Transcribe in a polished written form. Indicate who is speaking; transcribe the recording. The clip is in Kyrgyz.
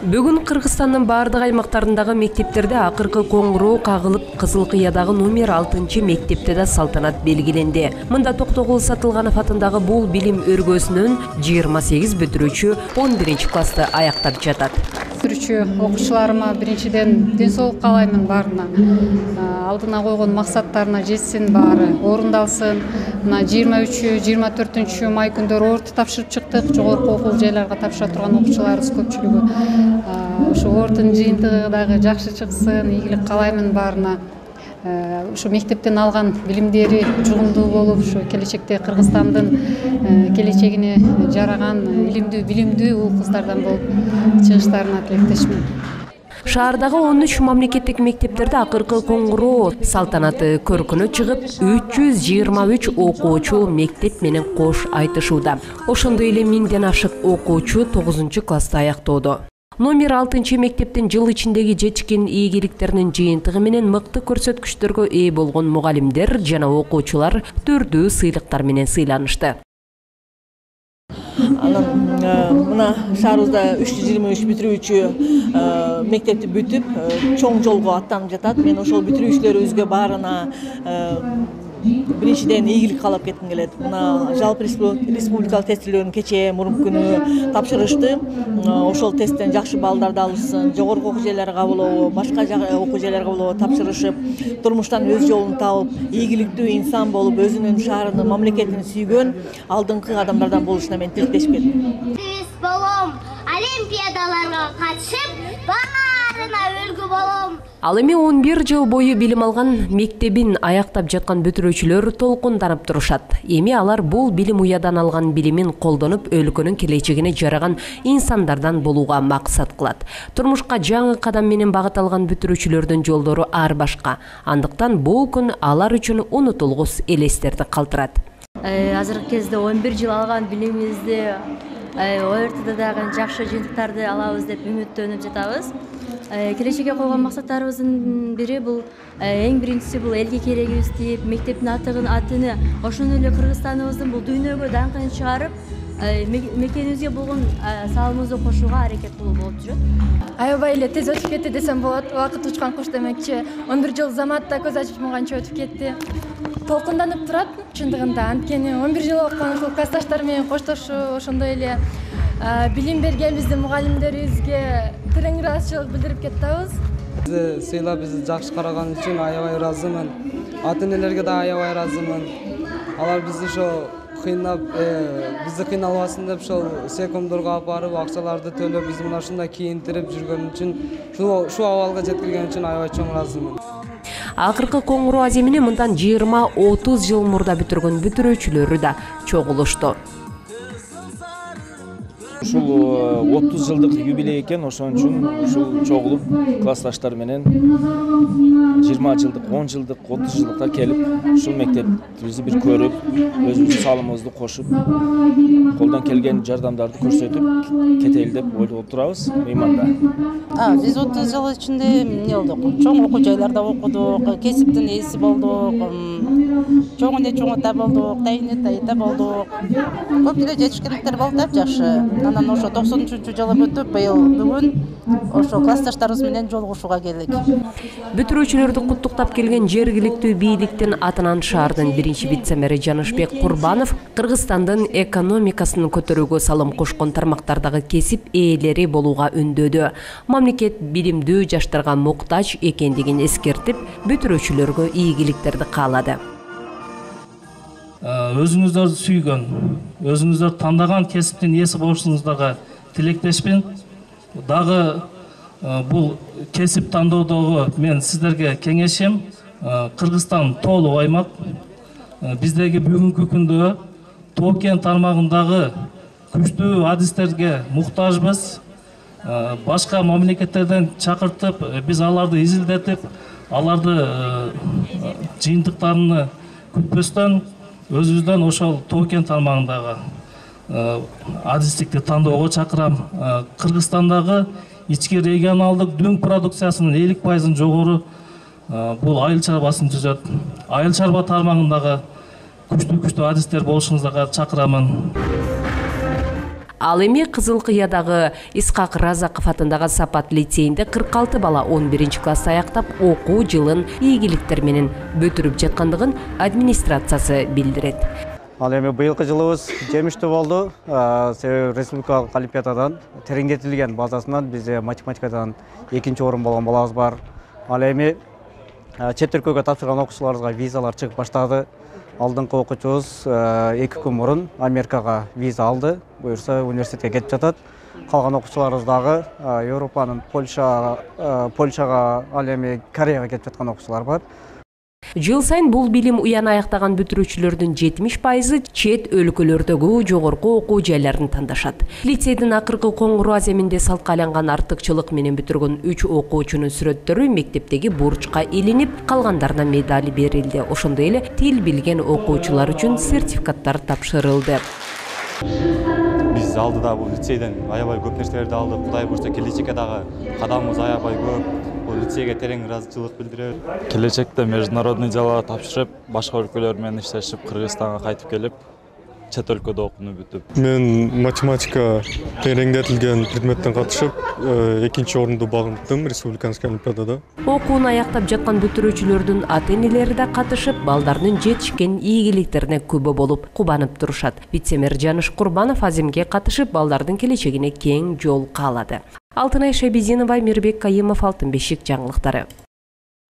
Speaker 1: Бүгүн Кыргызстандын бардык аймактарындагы мектептерде акыркы коңгуроо кагылып, Кызыл Кыядагы номер 6 мектепте да салтанат белгиленди. Мында Токтогул Сатылганов атындагы бул билим өргөсүнөн 28 бүтүрүүчү 11 классты аяктап жатат.
Speaker 2: Бүтүрүүчү окуучуларыма биринчиден ден соолук каалаймын баарына. Алдына койгон максаттарына жетсин, баары орундалсын. Мына 23-24 май күндөрү орто тапшырып чыктык. Жогорку окуу жайларга тапшыра турган окуучуларыбыз көпчүлүгү. Ошо ордун жыйынтыгы дагы жакшы чыксын, ийгилик каалаймын баарына. Ошо мектептен алган билимдери жугумдуу болуп, ошо келечекте Кыргызстандын келечегине жараган билимдүү уул кыздардан болуп чыгыштарына тилектешмин.
Speaker 1: Шаардагы 13 мамлекеттик мектептерде акыркы коңгуроо салтанаты көркүнө чыгып, 323 окуучу мектеп менен кош айтышууда. Ошондой эле 1000ден ашык окуучу 9 класста аяктоодо. Номер 6 мектептин жыл ичиндеги жетишкен ийгиликтеринин жыйынтыгы менен мыкты көрсөткүчтөргө ээ болгон мугалимдер жана окуучулар түрдүү сыйлыктар менен сыйланышты.
Speaker 3: Мына шаарыбызда 323 бүтүрүүчү мектепти бүтүп, чоң жолго аттанып жатат. Мен ошол бүтүрүүчүлөрүбүзгө баарына биринчиден ийгилик каалап кетким келет. Мына жалпы республикалык тестилөөнүн кечээ мурунку күнү тапшырышты. Ошол тесттен жакшы баллдарды алышсын, жогорку окуу жайларга кабылуу, башка окуу жайларга кабылуу тапшырышып, турмуштан өз жолун тауып, ийгиликтүү инсан болуп, өзүнүн шаарынын, мамлекетин сүйгөн алдыңкы адамдардан болушуна мен тилектешип кетем.
Speaker 4: Биз болом, олимпиадаларга катышып, баарына үлгү болом.
Speaker 1: Ал эми 11 жыл бою билим алган мектебин аяктап жаткан бүтүрүүчүлөр толкунданып турушат. Эми алар бул билим уядан алган билимин колдонуп, өлкөнүн келечегине жараган инсандардан болууга максат кылат. Турмушка жаңы кадам менен багыт алган бүтүрүүчүлөрдүн жолдору ар башка. Андыктан бул күн алар үчүн унутулгус элестерди калтырат.
Speaker 5: Азыркы кезде 11 жыл алган билимибизди ОРТда дагы жакшы жыйынтыктарды алабыз деп үмүттөнүп жатабыз. Келечекке койгон максаттарыбыздын бири бул эң биринчиси бул элге керегибиз тип, мектептин атыны ошондой эле Кыргызстаныбыздын бул дүйнөгө даңкын чыгарып, мекенибизге болгон салымыбызды кошууга аракет кылуу болуп жүрөт.
Speaker 6: Аябай эле тез өтүп кетти десем болот. Убакыт учкан куш демекчи. 11 жыл заматта көз ачып жумганча өтүп кетти. Толкунданып турат чындыгында. Анткени 11 жыл окуган классташтар менен коштошуу, ошондой эле билим берген биздин мугалимдерибизге терең ыраазычылык билдирип кетебиз.
Speaker 7: Бизди сыйлап, бизди жакшы караган үчүн аябай ыраазымын. Ата-энелерге да аябай ыраазымын. Алар бизди ошо кыйнап, бизди кыйналбасын деп ошол секомдорго алып барып, акчаларды төлөп, бизди мына ушундай кийинтирип жүргөн үчүн, ушул абалга жеткирген үчүн аябай чоң ыраазымын.
Speaker 1: Акыркы коңгуроо аземине мындан 20-30 жыл мурда бүтүргөн бүтүрүүчүлөрү да чогулушту.
Speaker 8: Ушул 30 жылдык юбилей экен, ошон үчүн ушул чогулуп классташтар менен 20 жылдык, 10 жылдык, 30 жылдыктар келип, ушул мектебибизди бир көрүп, өзүбүздүн салымыбызды кошуп, колдон келген жардамдарды көрсөтүп кетели деп ойлоп турабыз мыйманда.
Speaker 9: Биз 30 жыл ичинде эмне болдук? Чоң окуу жайларда окудук, кесиптин ээси болдук, чоң чоңота болдук, тайта болдук. Көп эле жетишкендиктер болуп атат жакшы. Анан ошо 93-жылы бүтүп, бүгүн ошо классташтарыбыз менен жолугушууга келдик.
Speaker 1: Бүтүрүүчүлөрдү куттуктап келген жергиликтүү бийликтин атынан шаардын биринчи вице-мэри Жанышбек Курбанов Кыргызстандын экономикасын көтөрүүгө салым кошкон тармактардагы кесип ээлери болууга үндөдү. Мамлекет билимдүү жаштарга муктаж экендигин эскертип, бүтүрүүчүлөргө ийгиликтерди каалады.
Speaker 10: Өзүңүздөрдү сүйгөн, өзүңүздөр тандаган кесиптин ээси болушуңуздарга тилектешмин. Дагы бул кесип тандоодогу мен сиздерге кеңешим, Кыргызстан тоолуу аймак. Биздеги бүгүнкү күндө Тоо-Кен тармагындагы күчтүү адистерге муктажбыз. Башка мамлекеттерден чакыртып, биз аларды изилдетип, аларды жыйынтыктарыны күтпөстөн өзүбүздөн ошол Тоо-Кен тармагындагы адистикти тандоого чакырам. Кыргызстандагы ички регионалдык дүң продукциясынын 50% жогору бул айыл чарбасын түзөт. Айыл чарба тармагындагы күчтүү адистер болушуңуздарга чакырамын.
Speaker 1: Ал эми Кызыл Кыядагы Исхак Разаков атындагы Сапат лицейинде 46 бала 11-классты аяктап, окуу жылын ийгиликтер менен бүтүрүп жаткандыгын администрациясы билдирет.
Speaker 11: Ал эми быйылкы жылыбыз жемиштүү болду. Себеби республикалык олимпиададан тереңдетилген базасынан бизде математикадан 2-орун болгон балабыз бар. Ал эми чет өлкөгө тапшырган окуучуларыбызга визалар чыгып баштады. Алдыңкы окуучубуз 2 күн мурун Америкага виза алды. Буюрса университетке кетип жатат. Калган окуучуларыбыз дагы Европанын Польшага, ал эми Кореяга кетип жаткан окуучулар бар.
Speaker 1: Жыл сайын бул билим уяны аяктаган бүтүрүүчүлөрдүн 70%ы чет өлкөлөрдөгү жогорку окуу жайларын тандашат. Лицейдин акыркы коңгуроо аземинде салтка айланган артыкчылык менен бүтүргөн 3 окуучунун сүрөттөрү мектептеги бурчка илинип, калгандарына медаль берилди. Ошондой эле тил билген окуучулар үчүн сертификаттар тапшырылды.
Speaker 12: Биз алдыда бул лицейден аябай көп нерселерди алдык. Кудай буйрса келечекке дагы кадамыбыз аябай көп. Бул лицейге терең ыраазычылык билдиребиз.
Speaker 13: Келечекте международный жалга тапшырып, башка өлкөлөр менен иштешип, Кыргызстанга кайтып келип, чет өлкөдө окууну бүтүп.
Speaker 14: Мен математика тереңдетилген предметтен катышып, 2-орунду багындым республиканский олимпиадада.
Speaker 1: Окууну аяктап жаткан бүтүрүүчүлөрдүн ата-энелери да катышып, балдардын жетишкен ийгиликтерине күбө болуп, кубанып турушат. Вице-мэр Жаныш Курбанов аземге катышып, балдардын келечегине кең жол каалады. Алтынай Шабизинова, Мирбек Кайымов, Алтын бешик жаңылыктары.